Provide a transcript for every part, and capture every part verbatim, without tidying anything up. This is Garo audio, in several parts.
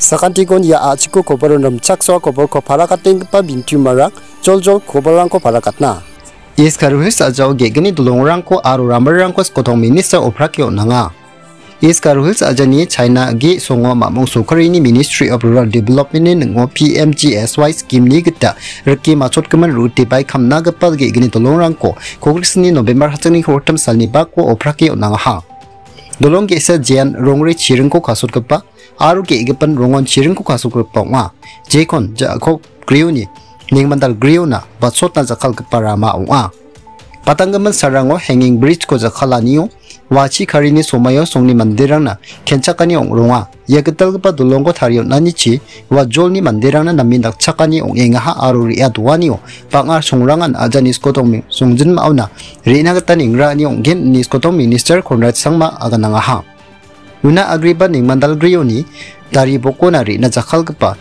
Sakantikon ia a·chiko koboron rimchaksoa koborko parakatenggipa bintiumarang joljol koborrangko parakatna. East Garo Hills a·jao ge·gni dolongrangko aro ramrangko skotong minister oprake on·anga. East Garo Hills a·jani China ge songo mamung sorkarini Ministry of Rural Development-ni ning·o P M G S Y scheme-ni gita rike machotgimin rute bai kamnagipa ge·gni dolongrangko kogriksni November hachangni kolgrim salni bako oprake on·angaha. Dolong ge·sa jean rongri chiringko kasotgipa aro ge·gipan rongon chiringko kasokgipa ong·a. Jekon Jakob Grioni nengmandal Griona batsotna jakkalgipa rama ong·a. Patanggimin sarango hanging bridge-ko jakkalanio wachi karini somaio songni manderangna kenchakani ong·ronga. Ia gitalgipa dolongko tarie on·anichi ua jolni manderangna namen dakchakani ong·engaha aro re·a doanio bang·a songrangan ajani skotong songjinmaona re·na gita nengraani ong·gen ine skotong minister Conrad Sangma aganangaha. Una agreba nengmandalgrioni dari bokona re·na jakkalgipa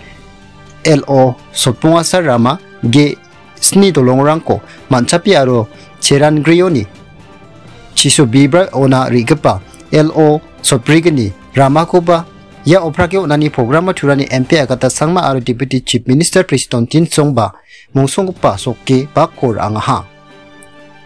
L O sotbongasar rama ge sni dolongrangko man·chapi aro cherangrioni chiso bibra ona re·gipa L O sotbrigni ramakoba ia oprake on·ani programo turani M P Agata Sangma aro Deputy Chief Minister Prestone Tynsong ba mongsonggipa sokke bakko ra·angaha.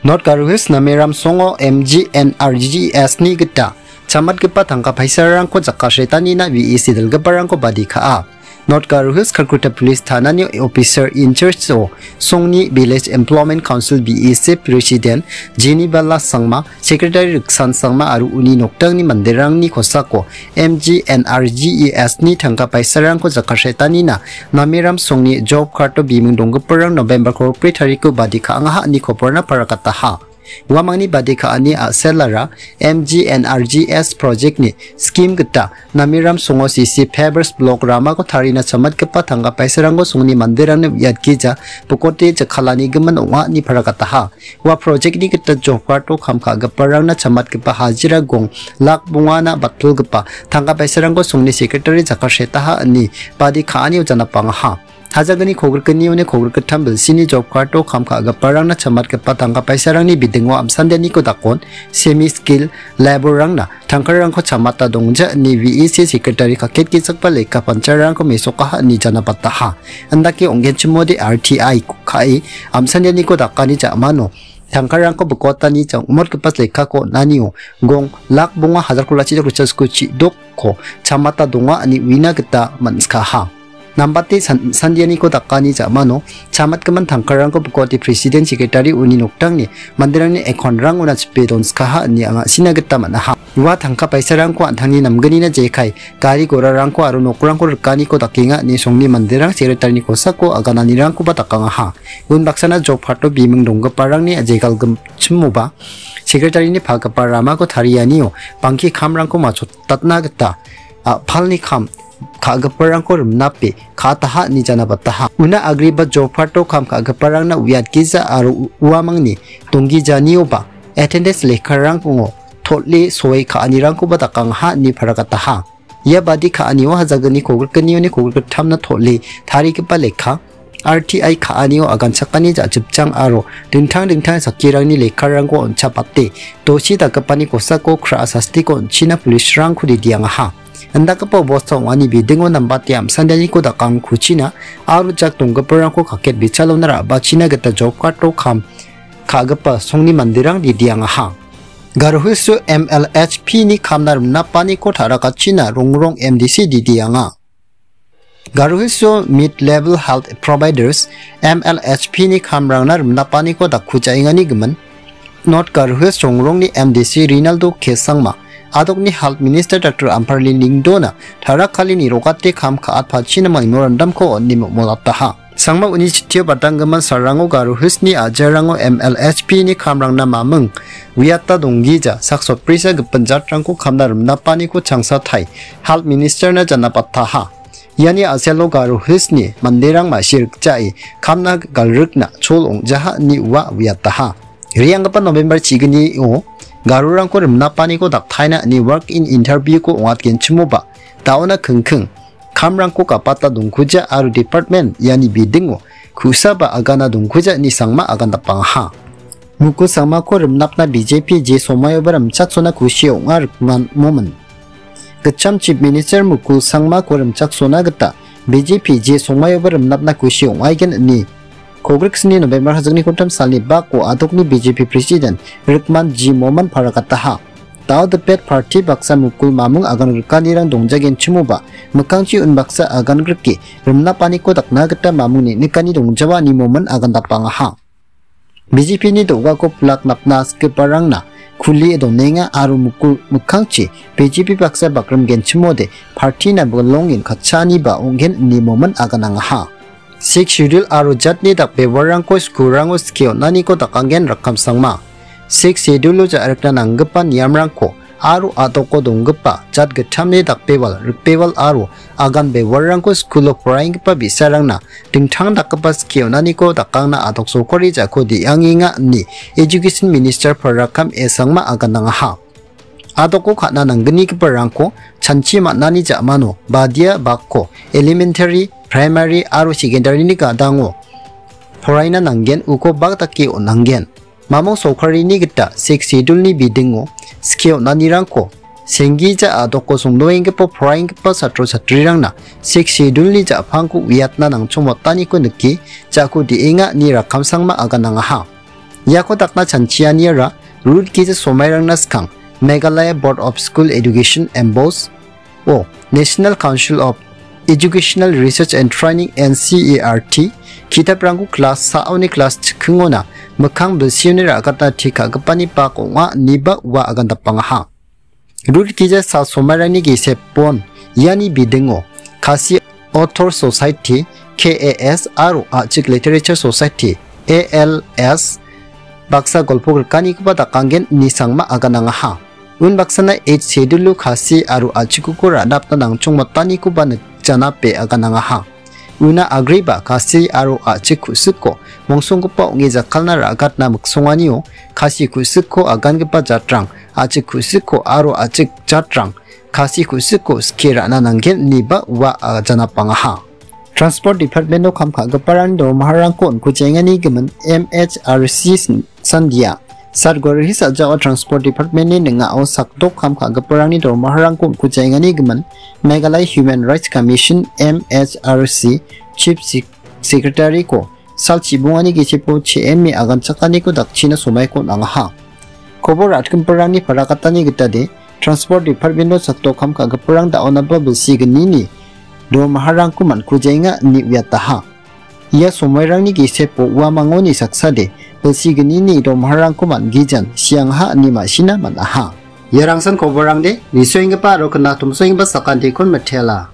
North Garo Hills Namiram Songo M G N R G S-ni gita chamatgipa tangka paisarangko jakasretanina V E C dilgiparangko badi ka·a. North Garo Hills Kharkutta Police Thanani Officer in Charge-o Songni Village Employment Council V E C President Jenny Bala Sangma, Secretary Riksan Sangma aro uni nokdangni manderangni kosako M G N R G S-ni tangka paisarangko jakasretanina Namiram Songni job card-o biming donggiparang November kolgri tariko badi ka·angaha ine koborna parakataha. Uamangni badi ka·ani a·selara M G N R G S project-ni scheme gita Namiram Songo C C Pavers Block ramako tarina chamatgipa tangka paisarangko songni manderangni uiatgija bokote jakkalanigimin ong·a ine parakataha. Ua project-ni gita job card-o kam ka·giparangna chamatgipa hajira gong lak bongana batpilgipa tangka paisarangko songni secretary jakasretaha ine badi ka·anio janapangaha. Hajagni kogrikgnioni kogrikgittam bilsini job card-o kam ka·giparangna chamatgipa tangka paisarangni bidingo amsandianiko dakon semi skill labour-rangna tangkarangko chamata dongja ine V E C secretary kaketgichakba lekka pancharangko mesokaha ine janabataha. Indake ong·genchimode R T I ka·e amsandianiko dakani ja·mano tangkarangko bikotani jang·motgipa lekako on·anio gong lak bonga hajar kolachi richa skuchi dokko chamata donga ine uina gita man·sikaha. Nambate san-, sandianiko dakani ja·mano chamatgimin tangkarangko bikote president secretary uni nokdangni manderangni account-rangona chipe donskaha ine anga sina gita man·aha. Ua tangka paisarangko an·tangni namgnina jekai gari gorarangko aro nokrangko rikaniko dakenga ine songni manderang secretary-ni kosako agananirangkoba dakangaha. Unbaksana job card-o biming donggiparangni jegalgimchimoba secretary-ni palgipa ramako tarianio bangke kamrangko machotatna gita a·palni kam ka·giparangko rimnape ka·ataha ine janabataha. Una agreba job card-o kam ka·giparangna uiatgija aro u-, uamangni donggijanioba attendance lekkarango tol·e soe ka·anirangkoba dakangaha ine parakataha. Ia badi ka·anio hajagni kogrikgnioni kogrikgittamna tol·e tarigipa lekka, R T I ka·anio aganchakani ja·chipchang aro dingtang dingtang chakkirangni lekkarangko on·chapate dosi dakgipani kosako kra·a sastiko on·china police-rangko ridiangaha. Indakgipa obosta ong·ani bidingo nambate amsandianiko dakangkuchina aro jak donggiparangko kaket bichalona ra·bachina gita job card-o kam ka·gipa songni manderang ridiangaha. Garo Hills-o M L H P-ni kamna rimnapaniko ta·rakatchina rongrong M D C ridianga. Garo Hills-o Mid Level Health Providers, M L H P-ni kamrangna rimnapaniko dakkujaengani gimin North Garo Hills rongrongni M D C Rinaldo K Sangma, adokni Health Minister Doctor Amparli Lyngdoh-na tarakalini rogate kam ka·atpachina memorandum-ko on·e mo-, molataha. Sangma uni chitio badanggimin salrango Garo Hills-ni a·jarango M L H P-ni kamrangna maming uiata donggija sak sotbrisa gipin jatrangko kamna rimnapaniko changsatai Health Minister-na janapataha. Iani a·selo Garo Hills-ni manderang ma·sirikjae kamna galrikna chol ong·jaha ine ua uiataha. Re·anggipa November chignio Garorangko rimnapaniko daktaina ine walk-in interview-ko ong·atgenchimoba, da·ona kingking kamrangko gapata dongkuja aro department iani bidingo ku·saba agana dongkuja ine Sangma agandapangaha. Muku Sangmako rimnapna B J P je somaioba rimchaksona kusi ong·a rikmanmomin. gitcham Chief Minister Mukul Sangmako rimchaksona gita B J P je songmaioba rimnapna kusi ong·aigen ine. Kogriksni November hajikni kolgrim salni bako a·dokni B J P President Rikman G Momin paragataha. Dao dipet parti baksa Mukul mamung agan grikanirang dongjagenchimoba mikkangchi unbaksa agan grike rimnapaniko dakna gita mamung neng·nikani dongjawa ine Momin agan dapangaha. B J P-ni do·gako pilak napna skiparangna kulie donenga aro Mukul mikkangchi B J P baksa bakrimgenchimode partina bilongen katchaaniba ong·gen ine Momin aganangaha. Sixth Schedule aro jatni dakbewarrangko skulrango skie on·aniko dakanggen Rakkamsangma. Sixth Schedule-o ja·rikna nanggipa niamrangko aro a·doko donggipa jat gittamni dakbewal, rikbewal aro agan bewarrangko skulo poraienggipa bi·sarangna dingtang dakgipa skie on·aniko dakangna a·dok sorkari jako de·angenga ine Education Minister Farrakam A Sangma aganangaha. A·doko ka·na nangganigiparangko chanchi man·ani ja·mano badia bakko elementary, primary aro secondary-ni gadango poraina nanggen, uko bak dake on·angen. Mamung sorkarini gita Sixth Schedule-ni bidingo skie on·anirangko senggija a·doko songdoenggipa poraenggipa chatro chatrirangna Sixth Schedule-ni ja·pangko uiatna nangchongmotaniko nike jako de·enga ine Rakkamsangma aganangaha. Iako dakna chanchianiara rut gija somairangna skang Meghalaya Board of School Education M B O S o National Council of Educational Research and Training, N C E R T, ki·taprangko klas sa·oni klas chikkingona mikkang bilsioni ra·gatna ti ka·gipani bak ong·a ineba ua agandapangaha. Rut gija sa somairangni gisepon iani bidingo Khasi Author Society, K A S, aro A·chik Literature Society, A L S, baksa golpo grikanikoba dakanggen ine Sangma aganangaha. Unbaksana Eighth Schedule-o Khasi aro A·chikko ra·napna nangchongmotanikoba nikjanape aganangaha. Una agreba Khasi aro A·chik ku·siko mongsonggipa ong·e jakkalna ra·gatna miksonganio Khasi ku·siko agangipa jatrang, A·chik ku·siko aro A·chik jatrang Khasi ku·siko skie ra·na nanggen ineba ua ajanapangaha. Transport Department-o kam ka·giparangni dormaharangko on·kujaengani gimin M H R C sandia. Satgorhi sajao Transport Department-ni ning·ao sakdok kam ka·giparangni dormaharangko on·kujaengani gimin Meghalaya Human Rights Commission, M H R C, Chief Sec-, Secretary-ko sal chibongani gisepo che·eme aganchakaniko dakchina somaiko on·angaha. Kobor ra·chakgiparangni parakatani gitade, Transport Department-o sakdok kam ka·giparang da·onaba bilsi gnini dormaharangko man·kujaenga ine uiataha. Ia somairangni gisepo uamangoni saksade bilsi gnini dormaharangko man·gijan siangaha ine ma·sina man·aha. Iarangsan koborrangde nisoenggipa aro knatomsoenggipa sakantikon mitela.